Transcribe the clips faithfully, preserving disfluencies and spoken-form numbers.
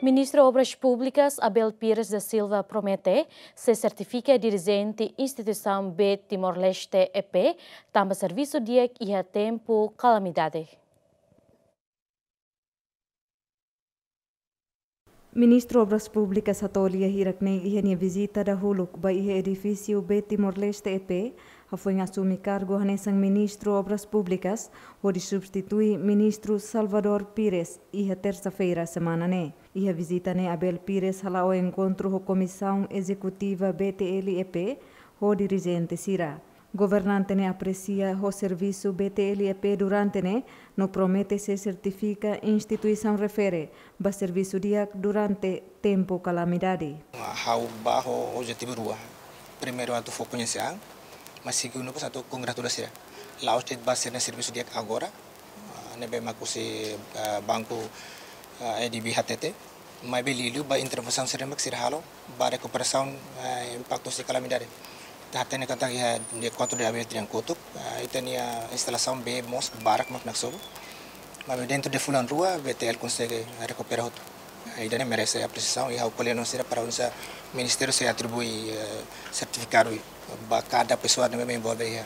Ministru Obras Públikas Abel Pires da Silva promete sei sertifika dirijente instituisaun B Timor-Leste E P tanba servisu di'ak iha tempu kalamidade. Ministru Obras Públikas hato'o lia hirak-ne'e iha nia vizita dahuluk ba iha edifísiu B Timor-Leste E P, hafoin asume kargu hanesan Ministru Obras Públikas, hodi substitui Ministru Salvador Pires iha tersa-feira semana ne'e. Iha vizita ne'e Abel Pires hala'o enkontru ho Komisaun Ezekutiva B T L E P, ho dirijente sira. Governante ne'e apresia ho servisu B T L E P durante ne'e, no promete sei sertifika instituisaun refere ba servisu di'ak durante tempu kalamidade. Ha'u bá ho objetivu rua. Primeiru atu fó koñese an, mas segundu pas atu kongratula sira. La'ós de'it ba sira-nia servisu di'ak agora, ah, ne'ebé mak husi, ah, banku, ah, A D B hatete. Maibé liuliu ba intervensaun sira mak sira halo ba rekuperasaun, eh, impaktu husi kalamidade. Ita hatene katak iha dia kuatru de abril tinan kotuk, eh, ita-nia instalasaun bee mós barak mak naksobu. Maibé dentru de fulan rua, B T L konsege rekupera hotu. Eh, ida-ne'e merese apresiasaun, i ha'u ko'alia no sira para oinsá ministériu sei atribui, eh, sertifikadu ba kada pesoál ne'ebé envolve iha,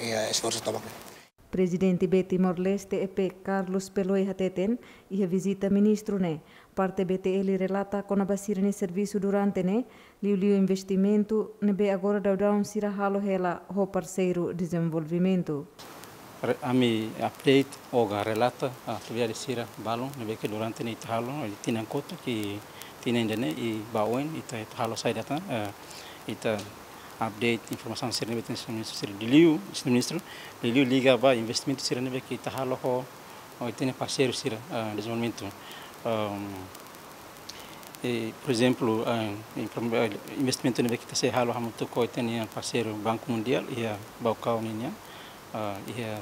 iha esforsu tomak ne'e. Prezidente B Timor-Leste E P Carlos Peloi hateten, iha vizita ministru ne'e, parte B T L relata kona-ba sira-nia servisu durante ne'e, liuliu investimentu ne'ebé agora daudaun sira halo hela ho parseiru dezenvolvimentu. Re-, ami update ou relata atividade sira balun ne'ebé ke durante ne'e ita halo, tinan kotuk, tinan ida-ne'e i ba oin ita, ita halo saida tan, eh, ita update informasaun sira ne'ebé ita-nia ministru sira liuliu, ministru, liuliu liga ba investimentu sira ne'ebé ke ita halo ho, ho ita-nia parseiru sira, ah, dezenvolvimentu. Ehm, e, por ezemplu, ah, inform-, ah, investimentu ne'ebé ke ita sei halo hamutuk ho ita-nia parseiru Banku Mundiál iha Baucau ninian, ah, iha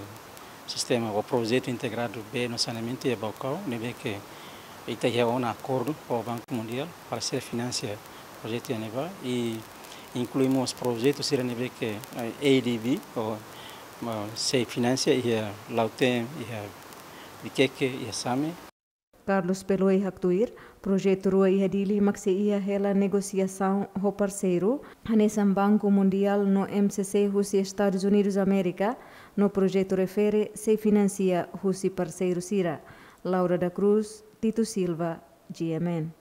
sistema ou projetu integradu bee no saneamentu iha Baucau, ne'ebé ke ita iha ona akordu ho Banku Mundiál para sei finansia projetu iha ne'ebá, i inklui mós projetu sira ne'ebé ke, eh, A D B, ou, ah, sei finansia iha Lautém, iha Viqueque, iha Same. Carlos Peloi haktuir, projetu rua iha Dili mak sei iha hela negosiasaun ho parseiru, hanesan Banku Mundiál no M C C husi Estadus Unidus Amérika, no projetu refere sei finansia husi parseiru sira. Laura da Cruz, Tito Silva, G M N.